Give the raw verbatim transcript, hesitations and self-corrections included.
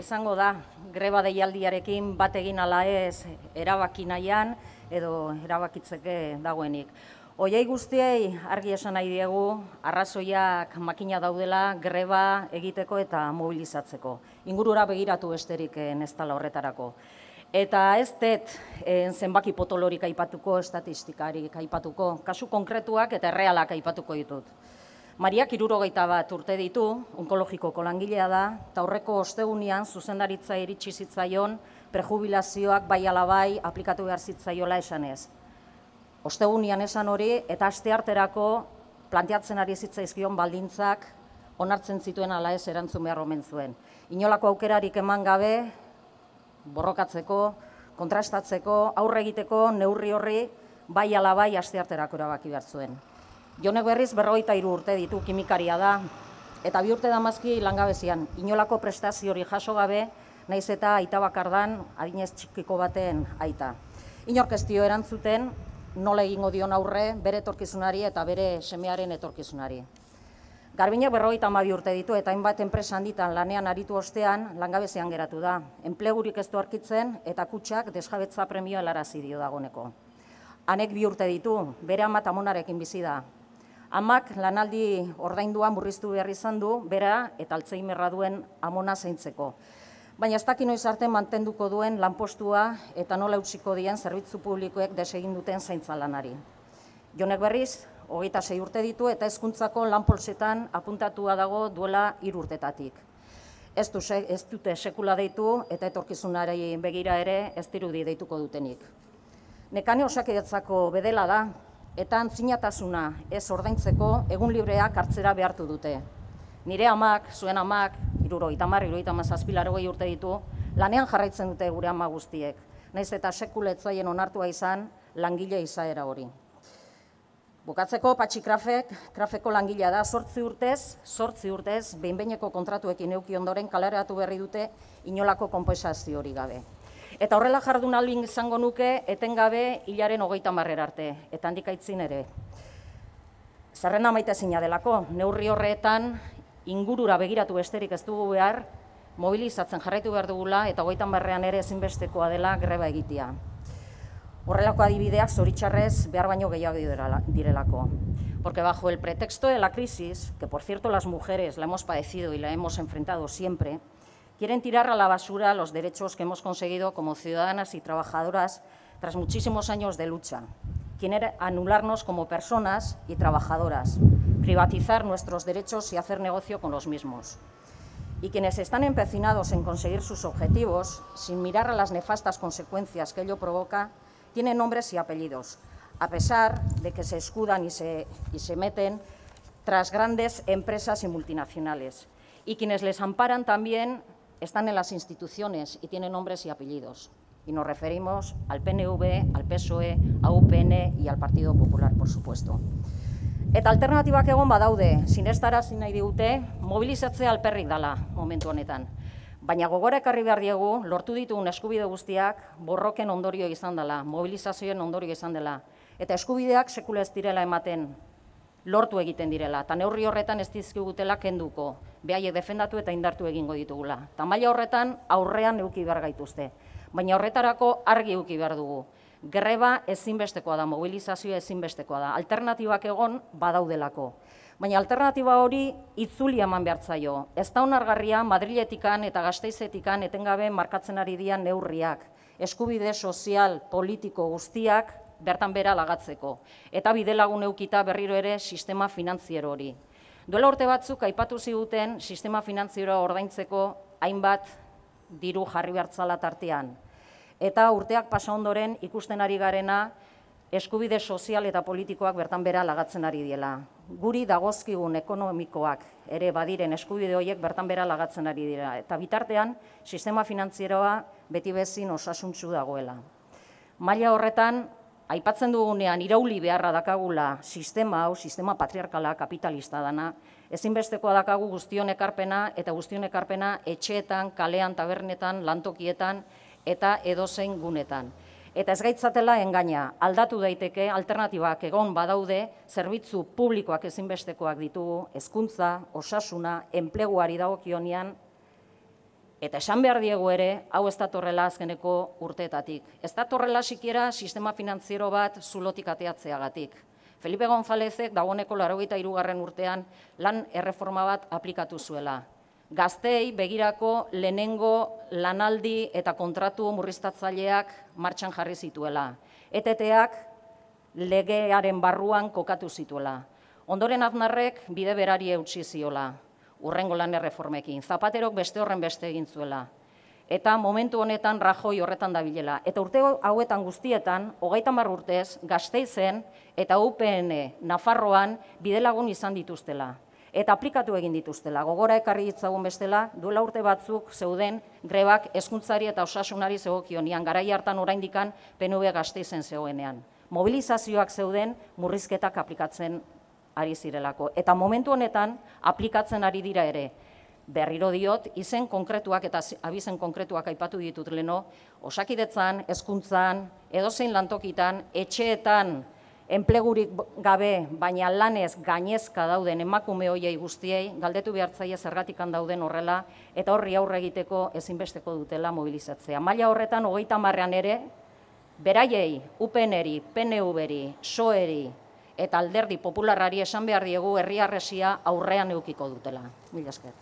izango da, greba deialdiarekin bat egin ala ez erabaki nahian edo erabakitzeke dagoenik. Oiei guztiei argi esan nahi diegu, arrazoiak makina daudela greba egiteko eta mobilizatzeko. Ingurura begiratu besterik ez dela horretarako. Eta ez dut zenbaki potolorik aipatuko, estatistikarik aipatuko, kasu konkretuak eta errealak aipatuko ditut. Mariak hirurogeita bat urte ditu, onkologikoko langilea da, eta horreko ostegunean zuzendaritza iritsi zitzaion prejubilazioak bai ala bai aplikatu behar zitzaiola esanez. Ostegunean esan hori eta astearterako planteatzen ari zitzaizkion baldintzak onartzen zituen ala ez erantzun behar omen zuen. Inolako aukerarik eman gabe, borrokatzeko, kontrastatzeko, aurre egiteko neurri horri bai ala bai astearterako erabaki behar zuen. Jonek berriz berrogeita hiru urte ditu, kimikaria da, eta bi urte damazki langabezian, inolako prestazio hori jaso gabe, naiz eta aita bakardan adinez txikiko baten aita. Inork ez dio erantzuten, nola egingo dion aurre bere etorkizunari eta bere semearen etorkizunari. Garbiñek berrogeita hamabi urte ditu eta hainbat enpresa handitan lanean aritu ostean langabezian geratu da. Enplegurik ez du aurkitzen eta kutxak desjabetza premioa helarazi dio dagoeneko. Hanek bi urte ditu, bere ama eta amonarekin bizi da. Amak lanaldi ordaindua murriztu behar izan du, bera eta altzheimerra duen amona zaintzeko. Baina ez daki noiz arte mantenduko duen lanpostua eta nola utziko dien zerbitzu publikoek desegin duten zaintza lanari. Jonek berriz, hogeita sei urte ditu eta hezkuntzako lanpolsetan apuntatua dago duela hiru urtetatik. Ez dute sekula deitu eta etorkizunari begira ere ez dirudi deituko dutenik. Nekane Osakidetzako bedela da, eta antzinatasuna ez ordaintzeko egun libreak hartzera behartu dute. Nire amak, zuen amak, hirurogeita hamar, hirurogeita hamazazpi, laurogei urte ditu, lanean jarraitzen dute gure ama guztiek, nahiz eta sekula ez zaien onartua izan langile izaera hori. Bukatzeko, Patxi Krafek, Krafeko langilea da, zortzi urtez, zortzi urtez, behin-behineko kontratuekin eduki ondoren kaleratu berri dute inolako konposazio hori gabe. Eta horrela jardunaldi izango nuke etengabe hilaren hogeita hamarrera arte, eta handik aitzin ere. Zerrenda maitezina delako, neurri horretan ingurura begiratu besterik ez dugu behar, mobilizatzen jarraitu behar dugula eta hogeita hamarrean ere ezinbestekoa dela greba egitea. Horrelako adibideak zoritxarrez behar baino gehiago direlako. Porque bajo el pretexto de la crisis, que por cierto las mujeres la hemos padecido y la hemos enfrentado siempre, quieren tirar a la basura los derechos que hemos conseguido como ciudadanas y trabajadoras tras muchísimos años de lucha. Quieren anularnos como personas y trabajadoras, privatizar nuestros derechos y hacer negocio con los mismos. Y quienes están empecinados en conseguir sus objetivos, sin mirar a las nefastas consecuencias que ello provoca, tienen nombres y apellidos, a pesar de que se escudan y se, y se meten tras grandes empresas y multinacionales. Y quienes les amparan también están en las instituciones y tienen nombres y apellidos. Y nos referimos al P N V, al P S O E, a U P N y al Partido Popular, por supuesto. Eta alternatibak egon badaude, sinestarazi nahi digute, mobilizatzea alperrik dela momentu honetan. Baina gogora ekarri behar diegu, lortu ditugun eskubide guztiak borroken ondorio izan dela, mobilizazioen ondorio izan dela. Eta eskubideak sekula ez direla ematen, lortu egiten direla, eta neurri horretan ez dizkigutela kenduko, behaiek defendatu eta indartu egingo ditugula. Eta maila horretan aurrean eduki behar gaituzte, baina horretarako argi eduki behar dugu. Greba ezinbestekoa da, mobilizazioa ezinbestekoa da, alternatibak egon badaudelako. Baina alternatiba hori itzuli eman behar zaio. Ez da onargarria Madriletikan eta Gasteizetikan etengabe markatzen ari dian neurriak, eskubide sozial, politiko guztiak bertan bera lagatzeko, eta bidelagun eukita berriro ere sistema finantziero hori. Duela urte batzuk aipatu ziguten sistema finantziero ordaintzeko hainbat diru jarri behartzala tartean. Eta urteak pasa ondoren ikusten ari garena eskubide sozial eta politikoak bertan bera lagatzen ari diela. Guri dagozkigun ekonomikoak ere badiren eskubide horiek bertan bera lagatzen ari dira. Eta bitartean, sistema finantzieroa beti bezin osasuntsu dagoela. Maila horretan, aipatzen dugunean irauli beharra dakagula sistema hau, sistema patriarkala, kapitalista dana, ezinbestekoa dakagu guztion ekarpena eta guztion ekarpena etxeetan, kalean, tabernetan, lantokietan eta edozein gunetan. Eta ez gaitzatela engaina, aldatu daiteke, alternatibak egon badaude, zerbitzu publikoak ezinbestekoak ditugu, hezkuntza, osasuna, enpleguari dagokionean, Eta esan behar diegu ere, hau ez datorrela azkeneko urteetatik. Ez datorrela sikiera sistema finantziero bat zulotik ateatzeagatik. Felipe Gonzálezek dagoeneko laurogeita hirugarren urtean lan erreforma bat aplikatu zuela. Gazteei begirako lehenengo lanaldi eta kontratu murriztatzaileak martxan jarri zituela. E T T-ak legearen barruan kokatu zituela. Ondoren Aznarrek bide berari eutsi ziola, urrengo lan erreformekin. Zapaterok beste horren beste egin zuela. Eta momentu honetan Rajoy horretan dabilela. Eta urte hauetan guztietan, hogeita hamar urtez, Gasteizen eta U P N Nafarroan bidelagun izan dituztela. Eta aplikatu egin dituztela. Gogora ekarri ditzagun bestela, duela urte batzuk zeuden grebak hezkuntzari eta osasunari zegokionian, garai hartan oraindikan P N V Gasteizen zegoenean. Mobilizazioak zeuden murrizketak aplikatzen ari zirelako. Eta momentu honetan aplikatzen ari dira ere. Berriro diot, izen konkretuak eta abizen konkretuak aipatu ditut leno, Osakidetzan, hezkuntzan, edozein lantokitan, etxeetan, enplegurik gabe, baina lanez gainezka dauden emakume hoiei guztiei, galdetu behartzaile zergatikan dauden horrela, eta horri aurre egiteko ezinbesteko dutela mobilizatzea. Maila horretan, hogeita hamarrean ere, beraiei, U P N-eri, P N V-eri, P S O E-eri eta Alderdi Popularrari esan behar diegu herri harresia aurrean edukiko dutela. Mila esker.